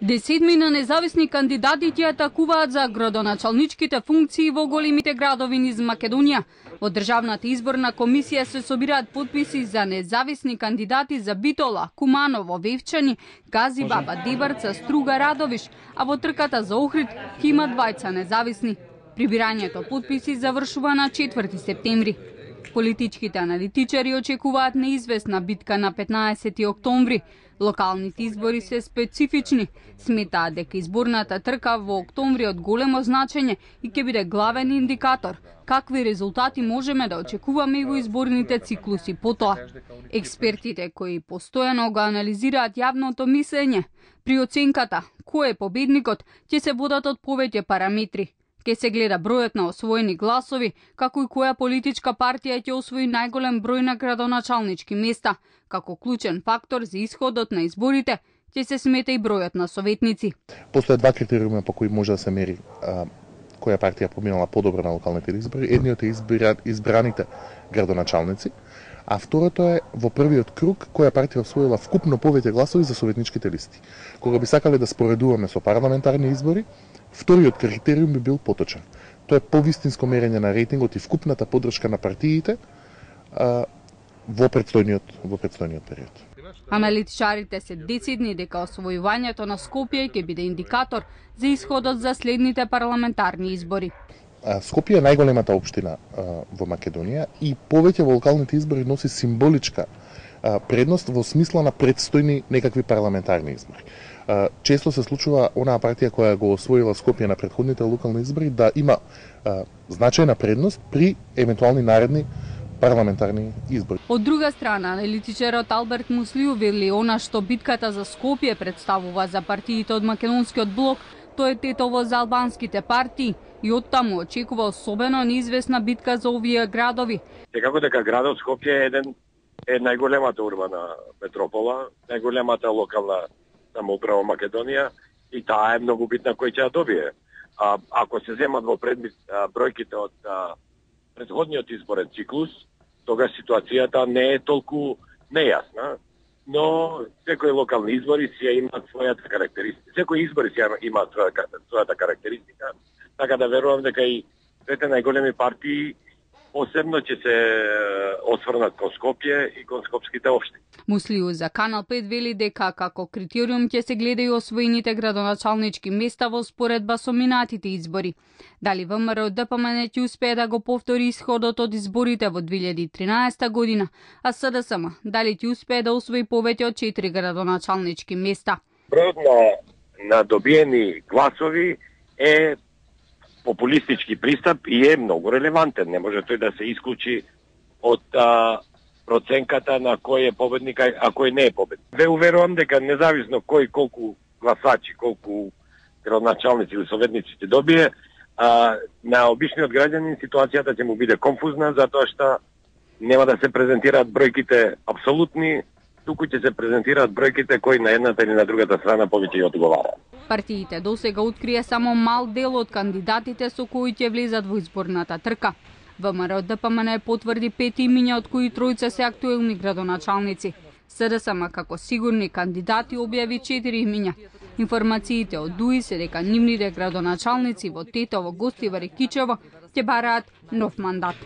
Десетмина независни кандидати ќе атакуваат за градоначалничките функции во големите градови низ Македонија. Во Државната изборна комисија се собираат потписи за независни кандидати за Битола, Куманово, Вевчани, Газибаба, Дебарца, Струга, Радовиш, а во трката за Охрид ќе има двајца независни. Прибирањето потписи завршува на 4 септември. Политичките аналитичари очекуваат неизвестна битка на 15 октомври. Локалните избори се специфични. Сметаат дека изборната трка во октомври од големо значење и ќе биде главен индикатор какви резултати можеме да очекуваме и во изборните циклуси потоа. Експертите кои постојано го анализираат јавното мислење, при оценката кој е победникот ќе се водат од повеќе параметри. Ке се гледа бројот на освоени гласови, како и која политичка партија ќе освои најголем број на градоначалнички места. Како клучен фактор за исходот на изборите ќе се смета и бројот на советници. Постојат два критериума по кои може да се мери која партија поминала подобро на локалните избори. Едниот е избраните градоначалници, а второто е во првиот круг која партија освоила вкупно повеќе гласови за советничките листи. Кога би сакале да споредуваме со парламентарни избори, вториот критериум би бил поточен. Тоа е повистинско мерење на рейтингот и вкупната поддршка на партиите во предстојниот период. Аналитичарите се децидни дека освојувањето на Скопје ќе биде индикатор за исходот за следните парламентарни избори. Скопје е најголемата општина во Македонија и повеќе во локалните избори носи символичка предност во смисла на предстојни некакви парламентарни избори. Често се случува онаа партија која го освоила Скопје на претходните локални избори да има значајна предност при евентуални наредни парламентарни избори. Од друга страна, аналитичарот Алберт Муслиу вели она што битката за Скопје представува за партиите од македонскиот блок, тоа е тетово за албанските партии и оттаму очекува особено неизвестна битка за овие градови. Секако дека градот Скопје е најголемата урбана метропола, најголемата локална самоуправа Македонија и таа е многу битна кој ќе ја добие. Ако се земат во предмет бројките од предходниот изборен циклус, тогаш ситуацијата не е толку нејасна, но секои локални избори си имаат својата карактеристика. Секои избори си имаат својата карактеристика, така да верувам дека и двете најголеми партии посебно ќе се осврнат кон Скопје и кон скопските општини. Муслиу за Канал 5 вели дека како критериум ќе се гледа и освоените градоначалнички места во споредба со минатите избори. Дали ВМРО ДПМН ќе успее да го повтори исходот од изборите во 2013 година, а СДСМ дали ќе успее да освои повеќе од 4 градоначалнички места. Бројот на добиени гласови е популистички пристап и е многу релевантен. Не може тој да се исклучи од проценката на кој е победник, а кој не е победник. Ве уверувам дека независно кој колку гласачи, колку градоначалници или советници ќе добие, на обичниот граѓанин ситуацијата ќе му биде конфузна, затоа што нема да се презентираат бројките апсолутни, туку ќе се презентираат бројките кои на едната или на другата страна повеќе ја одговараат. Партиите досега открие само мал дел од кандидатите со кои ќе влезат во изборната трка. ВМРО ДПМН потврди 5 имиња, од кои 3 се актуелни градоначалници. СДСМ како сигурни кандидати објави 4 имиња. Информациите од ДУИ се дека нивните градоначалници во Тетово, Гостивар и Кичево ќе бараат нов мандат.